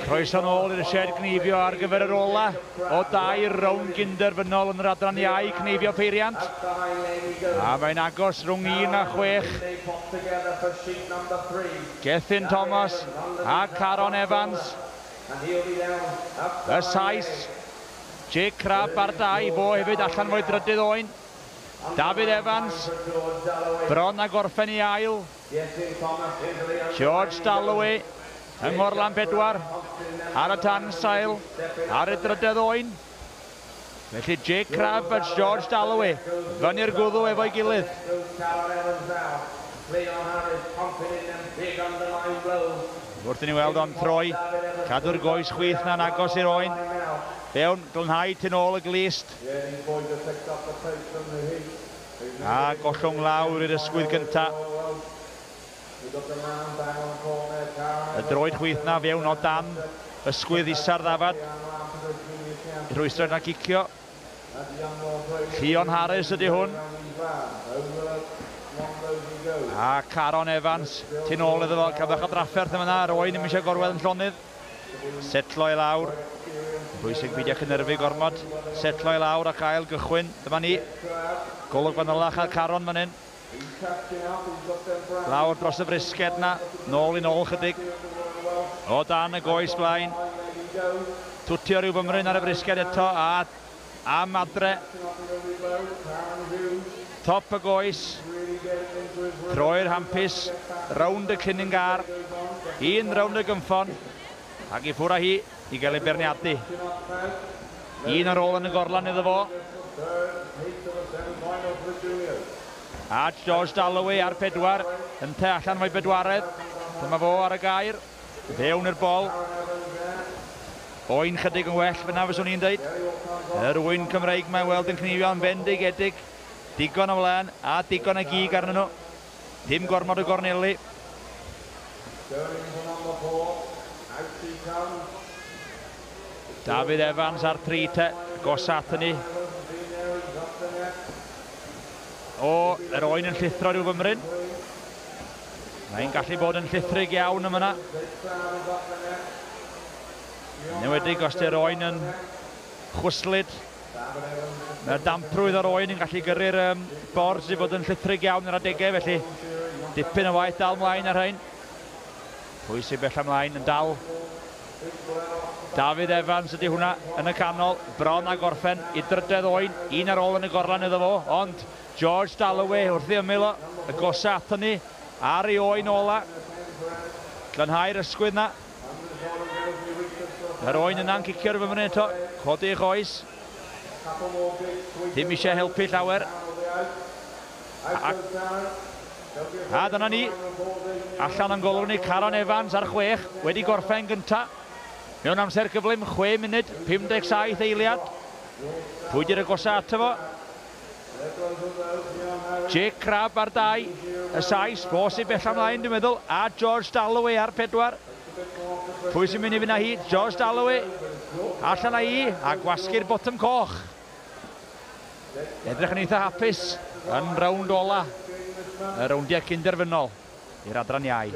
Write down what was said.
Croeso nôl i'r shed cneifio ar gyfer yr ola o dair rownd gynderfynol yn yr adran iau cneifio peiriant. A mae'n agos rhwng 1 a 6. Gethin Thomas a Caron Evans. Y Sais, Jake Crabb ar 2, fo hefyd allan fo'i drydydd oen. Dafydd Evans, bron a gorffen i ail. George Dalloway yng Nghorlan 4, ar y tan sail, ar y drydedd oen. Felly Jake Crabb a George Dalloway fyny'r gwddw efo'i gilydd. Wrth i ni weld o'n troi, cadw'r goes chwith na'n agos i'r oen. Fewn, glanhau tu nôl y glust. A gollwng lawr i'r ysgwydd gynta. Y droed chwith na fewn o dan ysgwydd isa'r ddafad. I rhwystro na gicio. Llion Harris ydy hwn. A Caron Evans, tu nôl iddo fo, cael bach o drafferth yma, yr oen ddim eisiau gorwedd yn llonydd. Setlo i lawr. Bwysig beidio cynhyrfu gormod. Setlo i lawr ac ail gychwyn. Dyma ni. Golwg fanylach ar Caron fan hyn. Lawr dros y frisged na. Nôl i nôl chydig. O dan y goes blaen. Twtio rhyw fymryn ar y frisged eto a am adre. Top y goes. Troi'r hampus. Rownd y clinyn gar. Un rownd y gynffon. Ac i ffwrdd â hi i gael ei beirniadu. Un ar ôl yn y gorlan iddo fo. A George Dalloway ar 4, ynte allan fo'i bedwaredd. Dyma fo ar y gair. Fewn i'r bol. Oen chydig yn well fyna fyswn i'n dweud. Yr ŵyn Cymreig mae'n weld yn cnifio'n fendigedig. Digon o wlân a digon o gig arnyn nhw. Dim gormod o gorneli. Dafydd Evans ar 3 te, gosa at hynny. O, yr oen yn llithro rhyw fymryn. Mae'n gallu bod yn llithrig iawn yma yna. Newedig os di'r oen yn chwyslyd. Mae'r damprwydd o'r oen yn gallu gyrru'r bord i fod yn llithrig iawn ar adegau, felly dipyn o waith dal mlaen ar rhain. Pwy sy'n bell ymlaen yn dal? Dafydd Evans ydy hwnna yn y canol, bron a gorffen i drydedd oen, un ar ôl yn y gorlan iddo fo, ond George Dalloway wrth ei ymyl o, y gosa ato ni, ar ei oen ola, glanhau'r ysgwydd na. Yr oen yna'n cicio'r fymryn eto, codi ei choes. Dim eisiau helpu llawer. A dyna ni, allan o'n golwg ni, Caron Evans ar 6, wedi gorffen gynta. Mewn amser gyflym, 6 munud, 57 eiliad. Pwy di'r agosa ato fo? Jake Crabb ar 2, y Sais, fo sy'n bell ymlaen dwi'n meddwl, a George Dalloway ar 4. Pwy sy'n mynd i fynd â hi? George Dalloway, allan â hi, a gwasgu'r botwm coch. Edrych yn eitha hapus yn rownd ola, y rowndiau cynderfynol i'r adran iau.